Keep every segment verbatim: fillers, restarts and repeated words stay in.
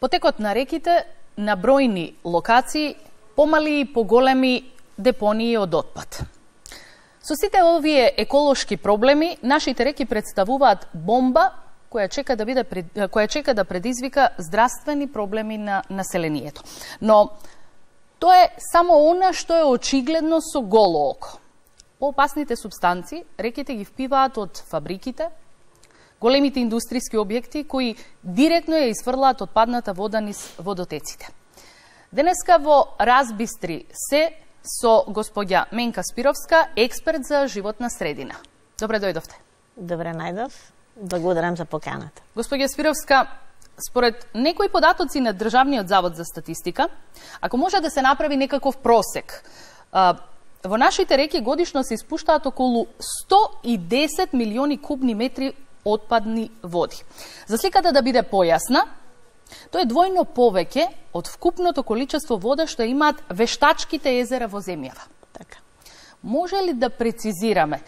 потекот на реките на бројни локации, помали и поголеми депонии од отпад. Со сите овие еколошки проблеми, нашите реки представуваат бомба која чека да биде која чека да предизвика здравствени проблеми на населението. Но тоа е само она што е очигледно со голо око. Поопасните супстанции реките ги впиваат од фабриките, големите индустријски објекти кои директно ја изфрлаат отпадната вода низ водотеците. Денеска во Разбистри се со господја Менка Спировска, експерт за животна средина. Добре дојдовте. Добре најдов. Благодарам за поканата. Господја Спировска, според некои податоци на Државниот завод за статистика, ако може да се направи некаков просек, во нашите реки годишно се испуштаат околу сто и десет милиони кубни метри отпадни води. За сликата да биде појасна, тоа е двојно повеќе од вкупното количество вода што имаат вештачките езера во земјава. Така. Може ли да прецизираме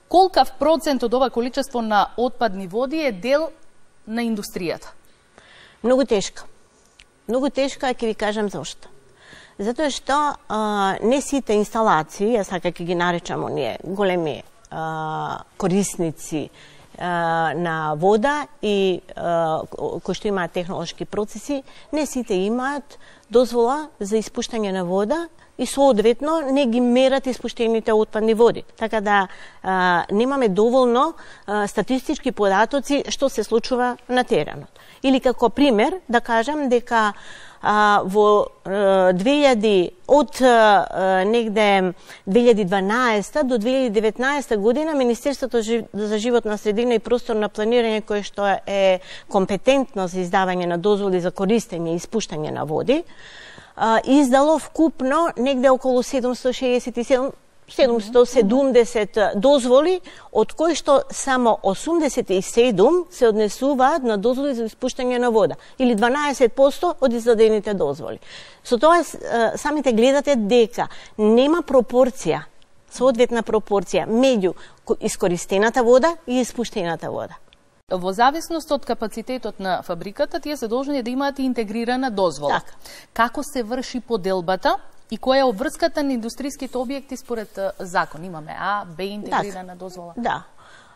колкав процент од ова количество на отпадни води е дел на индустријата? Многу тешко. Многу тешко, а ќе ви кажам зошто. Затоа што а, не сите инсталации, јас така ќе ги наречам оние големи а, корисници а, на вода и а, кои што имаат технолошки процеси, не сите имаат дозвола за испуштање на вода и соодветно не ги мерат испуштените отпадни води. Така да а, немаме доволно а, статистички податоци што се случува на теренот. Или како пример да кажам дека а, во а, две илјади од а, негде две илјади дванаесета до две илјади деветнаесета година Министерството за животна средина и просторно планирање, кое што е компетентно за издавање на дозволи за користење и испуштање на води, издало вкупно негде околу седумстотини шеесет и седум седумстотини седумдесет дозволи, од кои што само осумдесет и седум се однесуваат на дозволи за испуштање на вода, или дванаесет проценти од издадените дозволи. Со тоа самите гледате дека нема пропорција, соодветна пропорција меѓу искористената вода и испуштената вода. Во зависност од капацитетот на фабриката, тие се должни да имаат интегрирана дозвола. Так. Како се врши поделбата и која е обврската на индустријските објекти според закон? Имаме А, Б интегрирана так. дозвола. Да.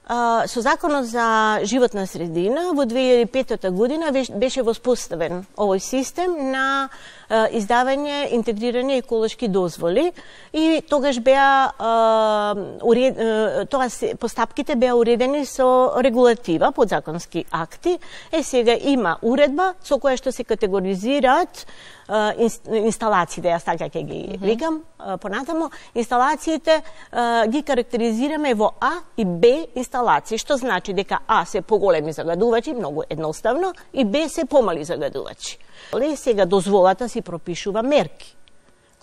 Uh, со Законот за животна средина во две илјади и петта година беше воспоставен овој систем на uh, издавање интегрирани еколошки дозволи и тогаш беа uh, уред, uh, тоа се, постапките беа уредени со регулатива, подзаконски акти. Е сега има уредба со која што се категоризираат uh, инсталациите, јас така ќе ги викам uh, понатамо, инсталациите uh, ги карактеризираме во А и Б инсталации. Инсталации, што значи дека А се поголеми загадувачи, многу едноставно, и Б се помали загадувачи. Але сега дозволата си пропишува мерки,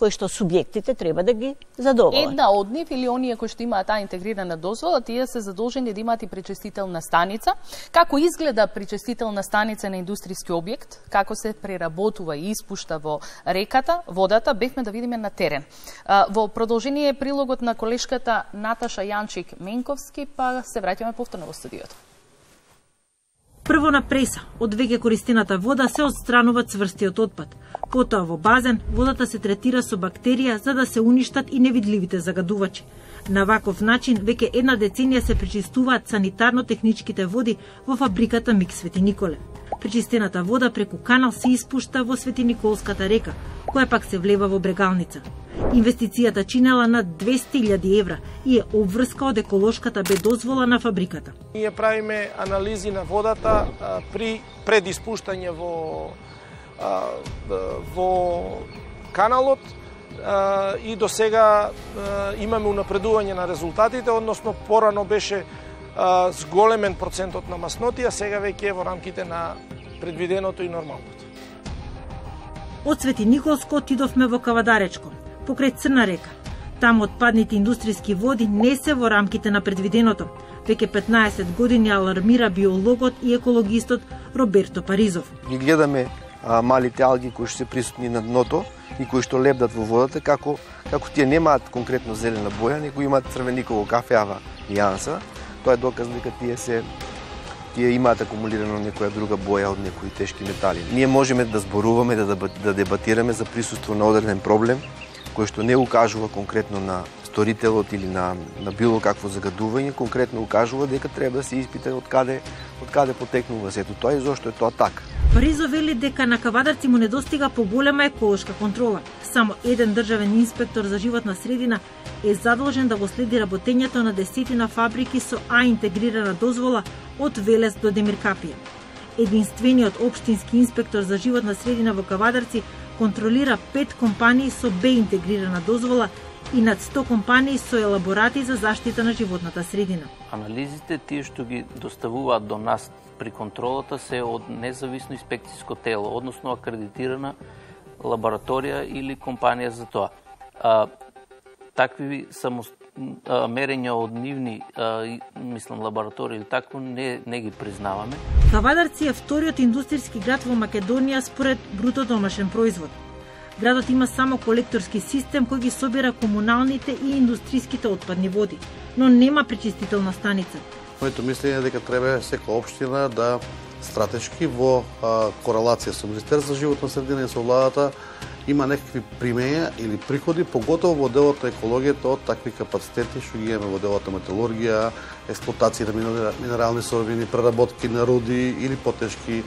кои што субјектите треба да ги задоволат. Една од нив или оние кои што имаат таа интегрирана дозвола, тие се задолжени да имаат и пречистителна станица. Како изгледа пречистителна станица на индустријски објект, како се преработува и испушта во реката, водата, бевме да видиме на терен. Во продолжение е прилогот на колешката Наташа Јанчик-Менковски, па се враќаме повторно во студиото. Прво на преса, од веќе користената вода се отстранува цврстиот отпад. Потоа во базен, водата се третира со бактерија за да се уништат и невидливите загадувачи. На ваков начин, веќе една деценија се пречистуваат санитарно-техничките води во фабриката МИК Свети Николе. Пречистената вода преку канал се испушта во Свети Николската река, која пак се влева во Брегалница. Инвестицијата чинела над двесте илјади евра и е обврска од еколошката бе дозвола на фабриката. Ние правиме анализи на водата а, при предиспуштање во а, во каналот а, и до сега а, имаме унапредување на резултатите, односно порано беше а, зголемен процентот на маснотија, сега веќе е во рамките на предвиденото и нормалното. Од Свети Николско отидовме во Кавадаречко, покрај Црна река. Таму отпадните индустријски води не се во рамките на предвиденото. Веќе петнаесет години алармира биологот и екологистот Роберто Паризов. Ги гледаме а, малите алги кои се присутни на дното и кои што лебдат во водата, како како тие немаат конкретно зелена боја, него имаат црвениково кафеава јанса. Тоа е доказ дека тие се тие имаат акумулирано некоја друга боја од некои тешки метали. Ние можеме да зборуваме, да, да дебатираме за присуство на одреден проблем, кој што не укажува конкретно на сторителот или на, на било какво загадување, конкретно укажува дека треба да се испита од каде, од каде потекнува сето тоа и зошто е тоа така. Паризо вели дека на Кавадарци му недостига поголема еколошка контрола. Само еден државен инспектор за животна средина е задолжен да го следи работењето на десетина фабрики со А интегрирана дозвола од Велес до Демиркапија. Единствениот општински инспектор за животна средина во Кавадарци контролира пет компании со Б интегрирана дозвола и над сто компании со елаборати за заштита на животната средина. Анализите тие што ги доставуваат до нас при контролата се од независно инспекциско тело, односно акредитирана лабораторија или компанија за тоа. А, такви само а, мерења од нивни, а, мислам, лаборатории или такво не, не ги признаваме. Кавадарци е вториот индустријски град во Македонија според бруто домашен производ. Градот има само колекторски систем кој ги собира комуналните и индустријските отпадни води, но нема пречистителна станица. Моето мислење е дека треба секоја општина да стратешки во а, корелација со Министерството за животна средина и со владата има некакви примења или приходи, поготово во делот на екологијата од такви капацитети што ги имаме во делот на металургија, експлоатација на минерални суровини, преработки на руди или потешки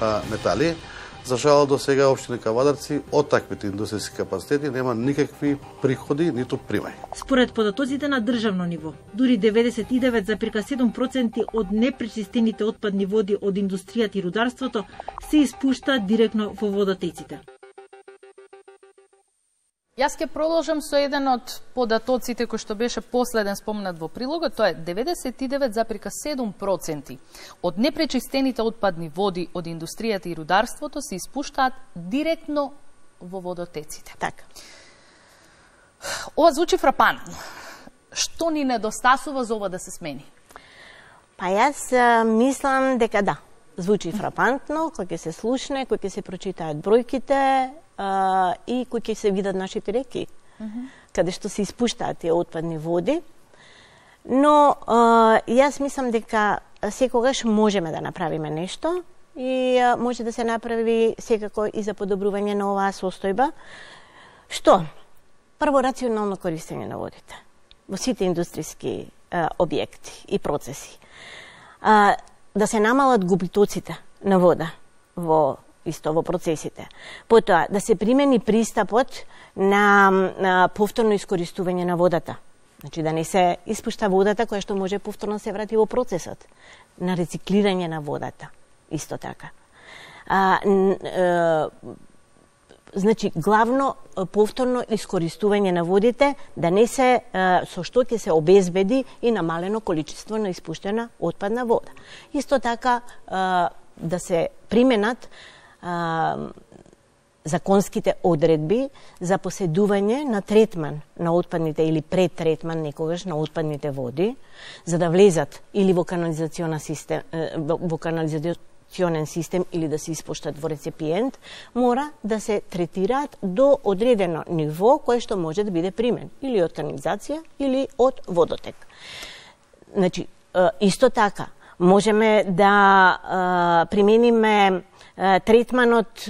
а, метали. За жал до сега општина Кавадарци од таквите индустријски капацитети нема никакви приходи ниту примај. Според податоците на државно ниво, дури деветдесет и девет зарез седум проценти од непречистените отпадни води од индустријата и рударството се испуштаат директно во водотеците. Јас ќе продолжам со еден од податоците кој што беше последен спомнат во прилогот, тоа е деветдесет и девет зарез седум проценти од непречистените отпадни води од индустријата и рударството се испуштаат директно во водотеците. Така. Ова звучи фрапантно. Што ни недостасува за ова да се смени? Па јас а, мислам дека да, звучи фрапантно, кој ќе се слушне, кој ќе се прочитаат бројките, Uh, и кои ќе се видат нашите реки, uh -huh. каде што се испуштаат тие отпадни води. Но uh, јас мислам дека секогаш можеме да направиме нешто и uh, може да се направи секако и за подобрување на оваа состојба. Што? Прво, рационално користење на водите во сите индустријски uh, објекти и процеси. Uh, да се намалат губитоците на вода во исто во процесите. Потоа, да се примени пристапот на, на повторно искористување на водата. Значи, да не се испушта водата која што може повторно се врати во процесот на рециклирање на водата. Исто така. А, а, значи, главно повторно искористување на водите, да не се, а, со што ќе се обезбеди и намалено количество на испуштена отпадна вода. Исто така, а, да се применат Uh, законските одредби за поседување на третман на отпадните или предтретман некогаш на отпадните води, за да влезат или во канализационен систем, во канализационен систем или да се испуштат во реципиент, мора да се третираат до одредено ниво кое што може да биде примен или од канализација или од водотек. Значи, исто така можеме да примениме третманот,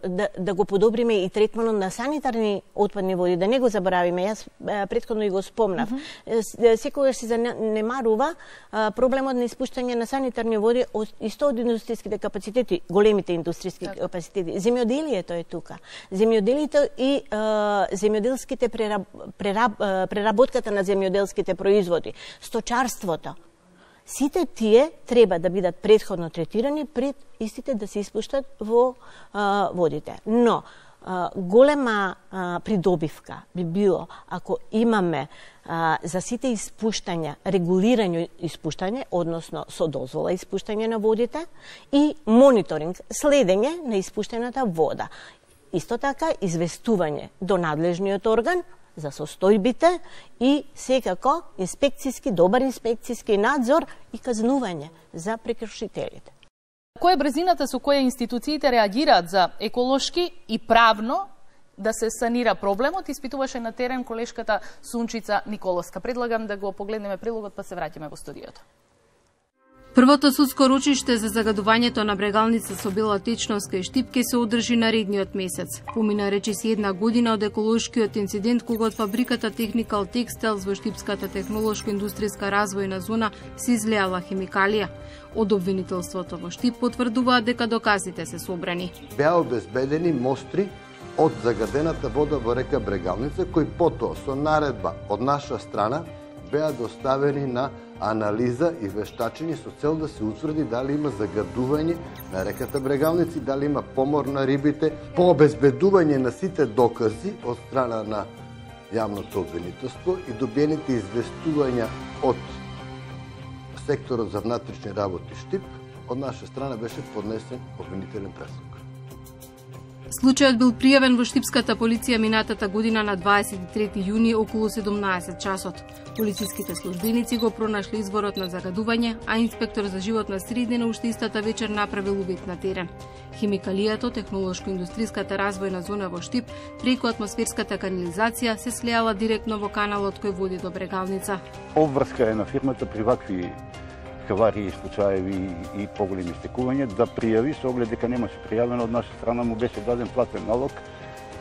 да, да го подобриме и третманот на санитарни отпадни води, да не го забравиме. Јас претходно и го спомнав. Mm -hmm. Секогаш се занемарува проблемот на испуштање на санитарни води од исто од индустријските капацитети, големите индустријски так. капацитети. Земјоделието е тука. Земјоделието и земјоделските прераб, прераб, преработката на земјоделските производи, сточарството. Сите тие треба да бидат претходно третирани пред истите да се испуштат во а, водите. Но а, голема а, придобивка би било ако имаме а, за сите испуштања, регулирање испуштање, односно со дозвола испуштање на водите и мониторинг, следење на испуштената вода. Исто така известување до надлежниот орган за состојбите и секако инспекцијски, добар инспекцијски надзор и казнување за прекршителите. Која е брзината со која институциите реагираат за еколошки и правно да се санира проблемот, испитуваше на терен колешката Сунчица Николовска. Предлагам да го погледнеме прилогот, па се враќаме во студиото. Првото судско рочиште за загадувањето на Брегалница со бела течноска и Штип ќе се одржи наредниот месец. Помина речиси една година од еколошкиот инцидент кога од фабриката Technical Textiles во Штипската технолошко-индустријска развојна зона се излеала химикалија. Од обвинителството во Штип потврдуваат дека доказите се собрани. Беа обезбедени мостри од загадената вода во река Брегалница, кои потоа со наредба од наша страна беа доставени на анализа и вештачење со цел да се утврди дали има загадување на реката Брегалница и дали има помор на рибите. По обезбедување на сите докази од страна на јавното обвинителство и добиените известувања од секторот за внатрешни работи Штип, од наша страна беше поднесен обвинителен предлог. Случајот бил пријавен во Штипската полиција минатата година на дваесет и трети јуни околу седумнаесет часот. Полициските службеници го пронашли изворот на загадување, а инспектор за животна средина уште истата вечер направил увид на терен. Химикалијата, технолошко-индустријската развојна зона во Штип, преку атмосферската канализација се слеала директно во каналот кој води до Брегалница. Обврска е на фирмата при вакви хаварии, случаеви и поголеми стекувања да пријави со оглед дека немаше пријавено од наша страна, му беше даден платен налог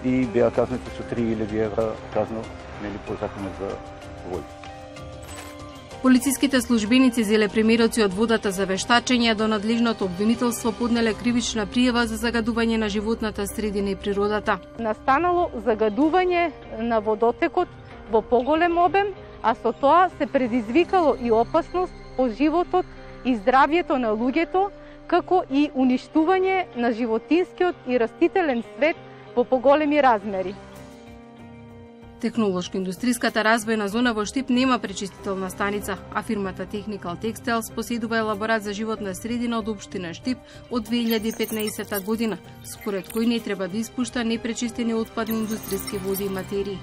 и беа казнети со три илјади евра казна, нели, по законот за води. Полициските службеници зеле примероци од водата за вештачење, до надлежното обвинителство поднеле кривична пријава за загадување на животната средина и природата. Настанало загадување на водотекот во поголем обем, а со тоа се предизвикало и опасност по животот и здравјето на луѓето, како и уништување на животинскиот и растителен свет во поголеми размери. Технолошко-индустријската развојна зона во Штип нема пречистителна станица, а фирмата Technical Textiles поседува елаборат за животна средина од општина Штип од две илјади и петнаесета година, според кој не треба да испушта непречистени отпадни индустријски води и материи.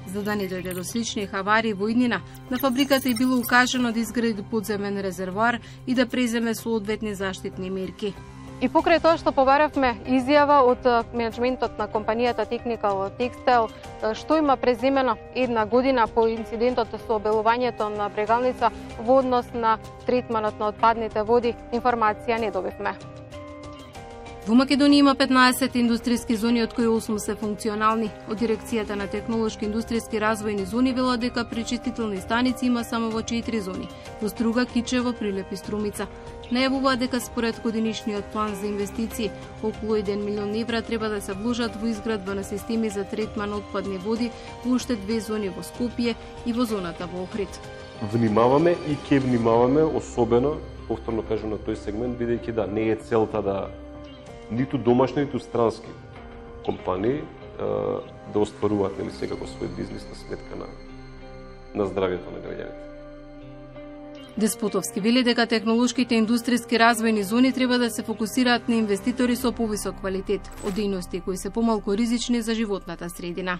За да не дојде до слични хавари во иднина, на фабриката е било укажано да изгради подземен резервоар и да преземе соодветни заштитни мерки. И покрај тоа што побаравме изјава од менеджментот на компанијата Technical Textile, што има преземено една година по инцидентот со обелувањето на Брегалница во однос на третманот на отпадните води, информација не добивме. Во Македонија има петнаесет индустријски зони, од кои осум се функционални. Од дирекцијата на технолошки индустријски развојни зони вела дека пречистителни станици има само во четири зони: во Струга, Кичево, Прилеп и Струмица. Најавува дека според годинишниот план за инвестиции околу еден милион евра треба да се вложат во изградба на системи за третман на отпадни води во уште две зони во Скопје и во зоната во Охрид. Внимаваме и ќе внимаваме особено, повторно кажам, на тој сегмент, бидејќи да не е целта да ниту домашни, ниту странски компании да остваруваат, нели, секако свој бизнис на сметка на, на здравјето на граѓаните. Деспотовски вели дека технолошките индустријски развојни зони треба да се фокусираат на инвеститори со повисок квалитет, од дејности кои се помалку ризични за животната средина.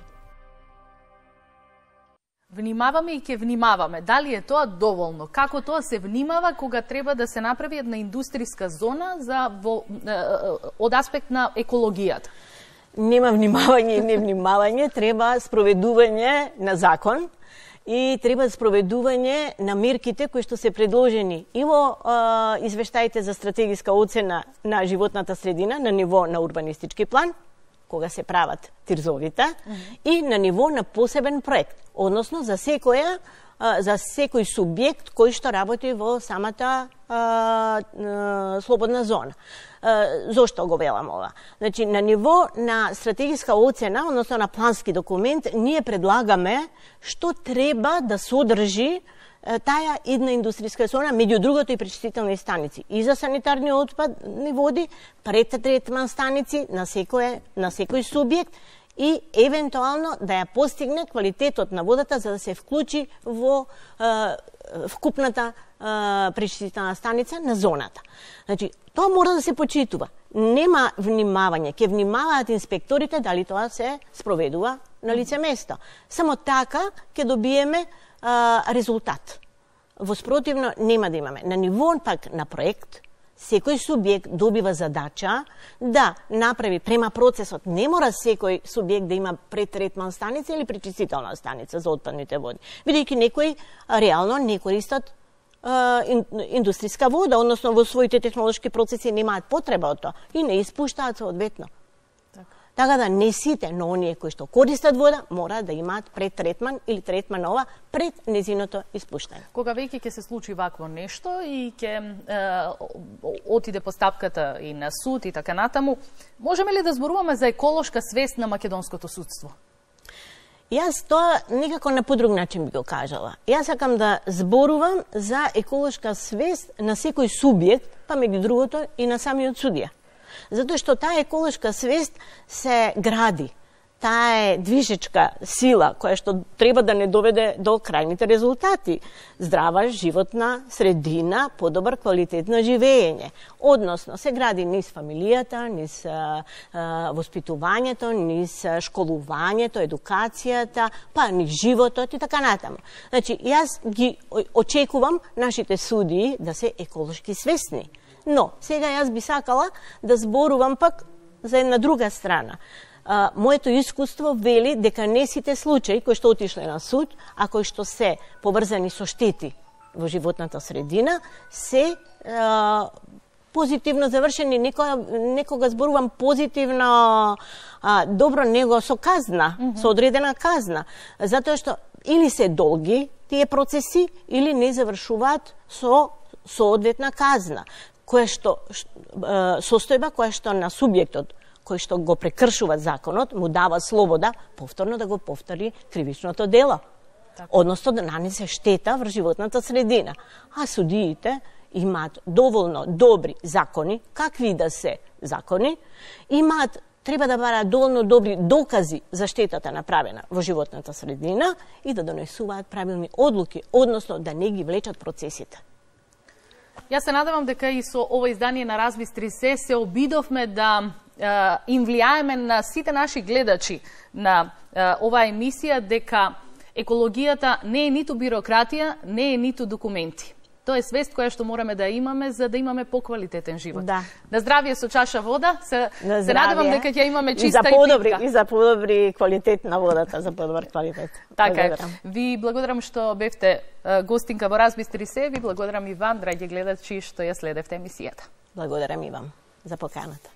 Внимаваме и ќе внимаваме. Дали е тоа доволно? Како тоа се внимава кога треба да се направи една индустријска зона за во, од аспект на екологијата? Нема внимавање и невнимавање, треба спроведување на закон и треба спроведување на мерките кои што се предложени и во а, извештаите за стратегиска оцена на животната средина на ниво на урбанистички план, кога се прават тирзовите, mm-hmm. и на ниво на посебен проект, односно за секоја за секој субјект кој што работи во самата а, а, слободна зона. А, зошто го велам ова? Значи, на ниво на стратегиска оцена, односно на плански документ, ние предлагаме што треба да содржи таа една индустријска зона, меѓу другото и пречистителни станици и за санитарни отпадни води, претретман станици на секој на секој субјект и евентуално да ја постигне квалитетот на водата за да се вклучи во е, вкупната е, пречистителна станица на зоната. Значи, тоа мора да се почитува. Нема внимавање, ќе внимаваат инспекторите дали тоа се спроведува на лице место. Само така ќе добиеме а, резултат. Во спротивно нема да имаме. На ниво пак на проект, секој субјект добива задача да направи према процесот. Не мора секој субјект да има претретман станица или пречистителна станица за отпадните води. Бидејќи некои реално не користат индустријска вода, односно во своите технолошки процеси немаат потреба од тоа и не испуштаат соодветно. Така да не сите, но оние кои што користат вода, мора да имаат предтретман или третманова пред незиното испуштање. Кога веќе ќе се случи вакво нешто и ќе отиде постапката и на суд и така натаму, можеме ли да зборуваме за еколошка свест на македонското судство? Јас тоа некако на подруг начин би го кажала. Јас сакам да зборувам за еколошка свест на секој субјект, па меѓу другото и на самиот судија. Затоа што таа еколошка свест се гради. Таа е движечка сила која што треба да не доведе до крајните резултати. Здрава животна средина, подобар квалитет на живење. Односно, се гради низ фамилијата, низ а, а, воспитувањето, низ школувањето, едукацијата, па низ животот и така натаму. Значи, јас ги очекувам нашите судии да се еколошки свесни. Но, сега јас би сакала да зборувам пак за една друга страна. А, моето искуство вели дека не сите случаи кои што отишле на суд, а кои што се поврзани со штети во животната средина, се а, позитивно завршени. Некога, некога зборувам позитивно, а, добро, него со казна, mm -hmm. со одредена казна. Затоа што или се долги тие процеси, или не завршуваат со соодветна казна, која што, состојба која што на субјектот кој што го прекршува законот, му дава слобода повторно да го повтори кривичното дело. Така. Односно да нанесе штета врз животната средина. А судиите имаат доволно добри закони, какви да се закони, имаат треба да бараат доволно добри докази за штетата направена во животната средина и да донесуваат правилни одлуки, односно да не ги влечат процесите. Јас се надевам дека и со ова издание на Разбистри се се обидовме да е, им влијаеме на сите наши гледачи на е, оваа емисија дека екологијата не е ниту бирократија, не е ниту документи. Тоа е свест која што мораме да имаме за да имаме поквалитетен живот. Да. На здравје со чаша вода. Се, се надевам дека ќе имаме чиста и, за подобри, и питка. И за подобри квалитет на водата, за подобар квалитет. Така е. Ви благодарам што бевте гостинка во Разбистри се. Ви благодарам и вам, драги гледачи, што ја следевте емисијата. Благодарам и вам за поканата.